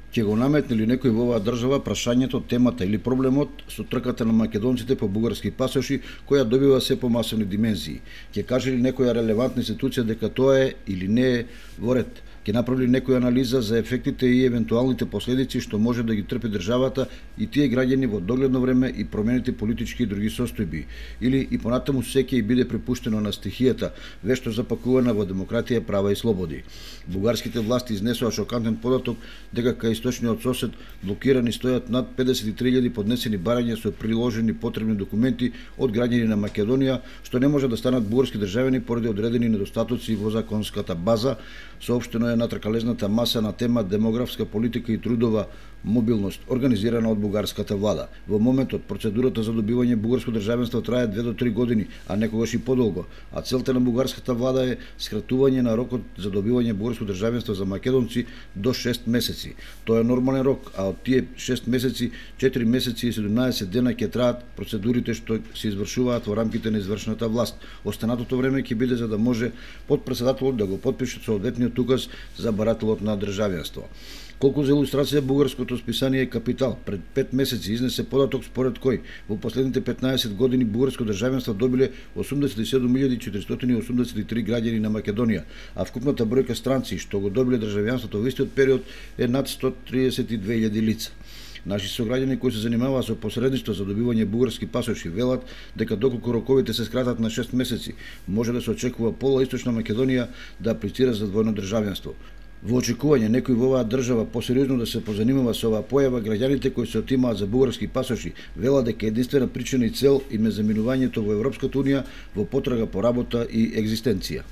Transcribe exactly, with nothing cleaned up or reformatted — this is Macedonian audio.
Ќе го наметне ли некој во оваа држава прашањето, темата или проблемот со трката на македонците по бугарски пасоши, која добива се помасовни димензии? Ќе каже ли некоја релевантна институција дека тоа е или не е во ред? Ќе направи ли некоја анализа за ефектите и евентуалните последици што може да ги трпи државата и тие граѓани во догледно време и промените политички и други состојби? Или и понатаму се ќе биде препуштено на стихијата, вешто запакувана во демократија, права и слободи? Бугарските власти изнесоа шокантен податок дека кај источниот сосед блокирани стојат над педесет и три илјади поднесени барања со приложени потребни документи од граѓани на Македонија, што не може да станат бугарски државјани поради одредени недостатоци во законската база. Соопштено е на тркалезната маса на тема демографска политика и трудова мобилност, организирана од бугарската влада. Во моментот процедурата за добивање бугарско државенство трае две до три години, а некогаш и подолго, а целта на бугарската влада е скратување на рокот за добивање бугарско државенство за македонци до шест месеци. Тоа е нормален рок, а од тие шест месеци, четири месеци и седумнаесет дена ќе траат процедурите што се извршуваат во рамките на извршната власт. Останатото време ќе биде за да може подпредседателот да го подпише соодветниот указ за барателот на државенство. Колку за илустрација, бугарското списание Капитал пред пет месеци изнесе податок според кој во последните петнаесет години бугарско државенство добиле осумдесет и седум илјади четиристотини и осумдесет и три граѓани на Македонија, а вкупната бројка странци што го добиле државјанството во истиот период е над сто триесет и две илјади лица. Наши сограѓани кои се занимаваат со посредништво за добивање бугарски пасоши велат дека доколку роковите се скратат на шест месеци, може да се очекува пола Источна Македонија да аплицира за двојно државенство. Во очекување некој во оваа држава посериозно да се позанимава со оваа појава, граѓаните кои се отимаат за бугарски пасоши велат дека единствена причина и цел им е заминувањето во Европската унија во потрага по работа и екзистенција.